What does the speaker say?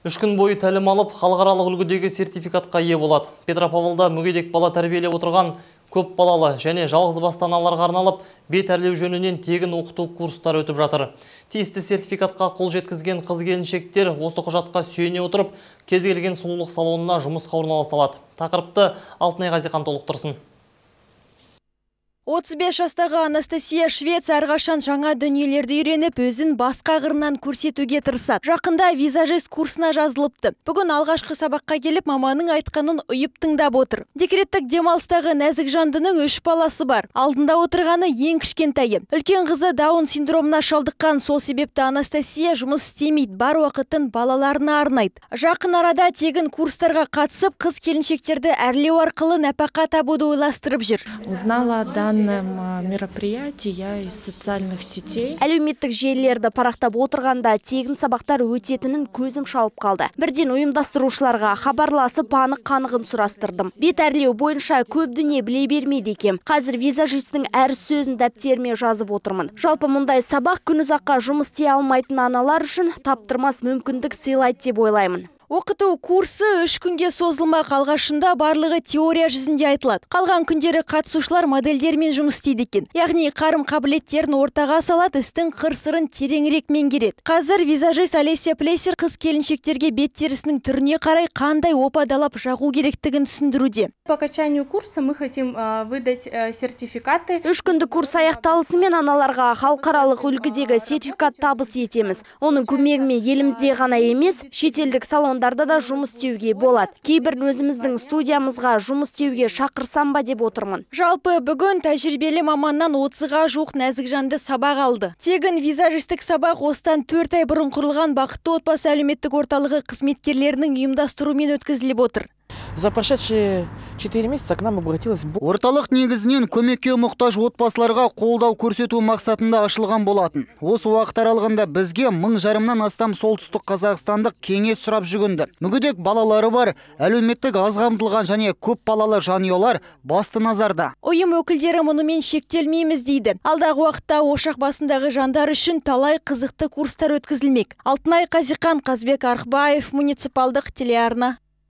3 күн бойы тәлім алып, халықаралық үлгідегі сертификатқа ие болады. Петропавлда мүгедек бала тәрбиелеп отырған көп балалы және жалғыз басты аналарға арналып, бет әрлеу жөнінен тегін оқыту курстары өтіп жатыр. Тиісті сертификатқа қол жеткізген қыз-келіншектер осы құжатқа сүйене отырып, кез келген сұлулық салонына жұмысқа орналаса алады. Тақырыпты Алтынай Ғазихан толықтырсын. 35 жастағы Анастасия Швец әрқашан жаңа дүниелерді үйреніп, өзін басқа қырынан көрсетуге тырысады. Жақында визажист курсына жазылыпты. Бүгін алғашқы сабаққа келіп, маманың айтқанын ұйып тыңдап отыр. Декреттік демалыстағы нәзік жандының 3 баласы бар. Алдында отырғаны ең кішкентайы. Үлкен қызы Даун синдромына шалдыққан, сол себепті Анастасия жұмыс істемейді, бар уақытын балаларына арнайды. Жақын арада тегін курстарға қатысып, қыз-келіншектерді әрлеу арқылы нәпақа табуды ойластырып жүр. Узнала мероприятие я из социальных сетей. Әлеуметтік желілерді парақтап отырғанда тегін сабақтар өтетінін көзім шалып қалды. Бірден ұйымдастырушыларға хабарласып анық-қанығын сұрастырдым. Бет әрлеу бойынша көп дүние біле бермейді екем. Қазір визажистің әр сөзін дәптеріме жазып отырмын. Жалпы мұндай сабақ күнұзаққа жұмыс істей алмайтын аналар үшін таптырмас мүмкіндік сыйлайды деп ойлаймын. Оқыту курсы 3 күнге созылмақ. Алғашында барлығы теория жүзінде айтылады. Қалған күндері қатысушылар модельдермен жұмыс істейді екен. Яғни қарым-қабілеттерін ортаға салады, істің қыр-сырын тереңірек меңгереді. Қазір визажист Олеся Плесер қыз-келіншектерге бет терісінің түріне қарай қандай опадалап жағу керектігін түсіндіруде. По окончанию курса мы хотим выдать сертификаты. 3 күндік курс аяқталысымен аналарға халықаралық үлгідегі сертификат табыс етеміз. Оның көмегімен елімізде ғана емес, шетелдік салондарда да жұмыс істеуге болады. Кейбір өзіміздің студиямызға жұмыс істеуге шақырсам ба деп отырмын. Жалпы бүгін тәжірибелі маманнан 30-ға жуық нәзік жанды сабақ алды. Тегін визажистік сабақ осыдан 4 ай бұрын құрылған Бақытты отбасы әлеуметтік орталығы қызметкерлерінің ұйымдастыруымен өткізіліп отыр. За прошедшие 4 месяца к нам обратилось. Орталық негізінен көмекке мұқтаж отбасыларға қолдау көрсету мақсатында ашылған болатын. Осы уақыт аралығында бізге 1000 жарымнан астам солтүстік қазақстандық кеңес сұрап жүгінді. Мүгедек балалары бар, әлеуметтік аз қамтылған және көп балалы жанұялар басты назарда. Ұйым өкілдері мұнымен шектелмейміз дейді. Алдағы уақытта ошақ басындағы жандар үшін талай қызықты курстар өткізілмек. Алтынай Ғазихан, Қазбек Арықбаев, муниципалдық телеарна.